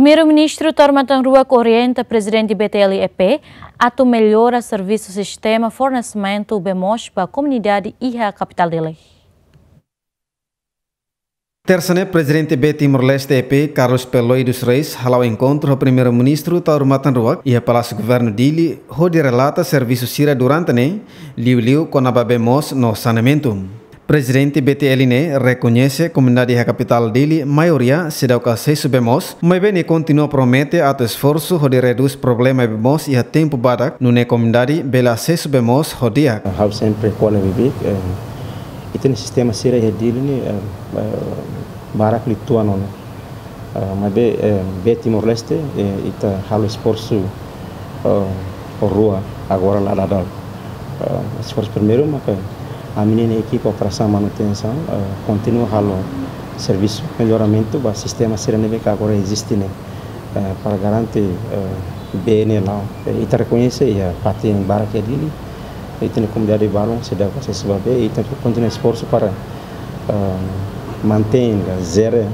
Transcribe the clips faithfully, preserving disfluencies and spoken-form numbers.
Primeiru-Ministru Taur Matan Ruak orienta Prezidente B T L E P atu mellora servisu sistema fornesimentu bee moos ba komunidade iha kapitál Dili. Tersa ne'e, Prezidente B Timor-Leste E P, Carlos Peloy dos Reis, hala'o enkontru ho Primeiru-Ministru Taur Matan Ruak iha Palásiu Governu Dili, hodi relata servisu sira durante ne'e, liuliu kona-ba bee moos no saneamentu. Prezidente B T L ne'e rekoñese komunidade iha kapitál Dili maioria seidauk asesu bee moos, maibé nia kontinua promete atu esforsu hodi redús problema bee moos iha tempu badak, nune'e komunidade bele asesu bee moos ho di'ak. Ha'u sempre ko'alia bibi, eh, ita-nia sistema sira iha Dili ne'e, eh, eh, barak liu tuan ona. Eh, maibé, eh, B Timor-Leste, eh, ita halo esforsu, eh, rua agora la dadaun. Eh, esforsu primeiru maka ami-nia ekipa operasaun manutensaun, eh, kontinua halo servisu melloramentu ba sistema sira ne'ebé ke agora eziste ne'e, eh, para garante, eh, bee ne'e la'o. Eh, ita rekoñese iha fatin barak iha Dili, ita-nia komunidade balun seidauk asesu ba bee, ita kontinua esforsu para, eh, mantein ka jere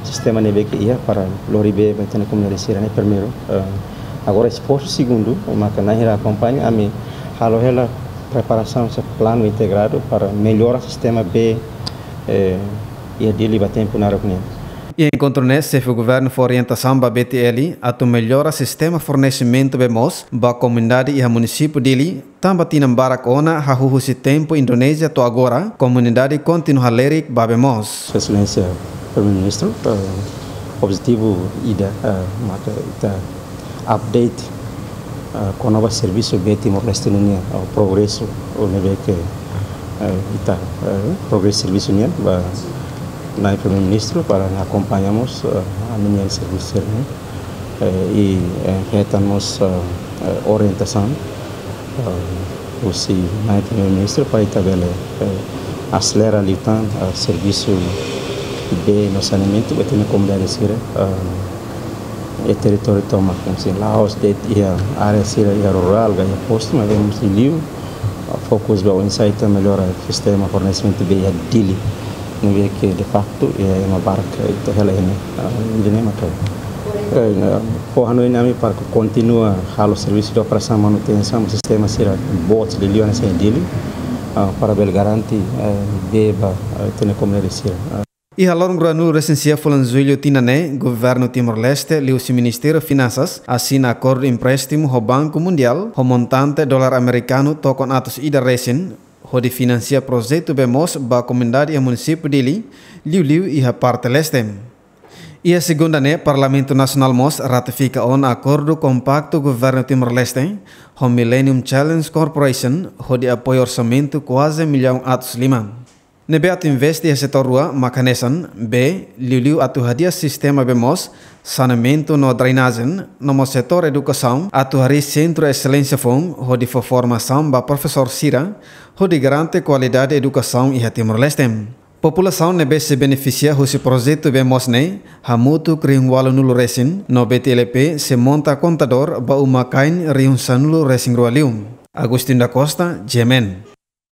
sistema ne'ebé ke iha para lori bee ba ita-nia komunidade sira ne'e primeiru. Eh, agora esforsu segundu, maka na'in hira akompaña, ami halo hela preparasaun, se planu integradu para mellora sistema bee, eh, iha Dili ba tempu naruk nian. Iha enkontru ne'e, Xefe Governu fó orientasaun ba B T L atu mellora sistema fornesimentu bee moos ba komunidade iha munisípiu Dili, tanba tinan barak ona hahú husi tempu Indonézia to'o agora, komunidade kontinua halerik ba bee moos. Sua Exelénsia Primeiru-Ministru, eh, objetivu ida, eh, maka ita update, eh, kona-ba servisu bee Timor-Leste nian, eh, progresu, ne'ebé ke, eh, ita, eh, progresu servisu nian, ba Nai Primeiru-Ministru para akompaña mós, eh, ami-nia servisu nian. Eh, i, eh, hetan mós, eh, eh, orientasaun, eh, husi Nai Primeiru-Ministru para ita bele, eh, aselera liután, eh, servisu bee no saneamentu ba ita-nia komunidade sira, eh, iha territóriu tomak, hanesan la'ós de'it iha área sira iha rurál ka iha postu, maibé mós liu, ah, fokus ba oinsá ita mellora sistema fornesimentu bee iha Dili. Ne'ebé ke de facto, eh, ema barak ita hela iha ne'e. Ah, ida-ne'e maka, eh, fó hanoin ami para kontinua halo servisu de operasaun manutensaun sistema sira boot liuliu hanesan iha Dili, ah, para bele garante, eh, bee ba, eh, ita-nia komunidade sira. Ah. Iha loron ruanulu-resin-sia fulan Jullu tinan ne'e, Governu Timor-Leste liuhusi Ministériu Finansas asina akordu empréstimu ho Banku Mundiál ho montante dolar amerikanu tokon atus ida resin, hodi finansia projetu bee moos ba komunidade iha munisípiu Dili, liuliu iha parte leste. Iha segunda ne'e, Parlamentu Nasionál mós ratifika ona akordu kompaktu Governu Timor-Leste ho Millennium Challenge Corporation, hodi apoiu orsamentu kuaze millaun atus lima. Ne'ebé atu investe iha setór rua maka hanesan bee, liuliu atu hadi'a sistema bee moos, saneamentu no drenajen, no mós setór edukasaun, atu harii Sentru Exelénsia foun, hodi fó formasaun ba profesór sira, hodi garante kualidade edukasaun iha Timor-Leste. Populasaun ne'ebé sei benefisia husi projetu bee moos ne'e, hamutuk rihun ualunulu resin, no B T L E P sei monta kontadór ba uma-kain rihun sanulu-resin-rua liu. Agostinho da Costa, G M N.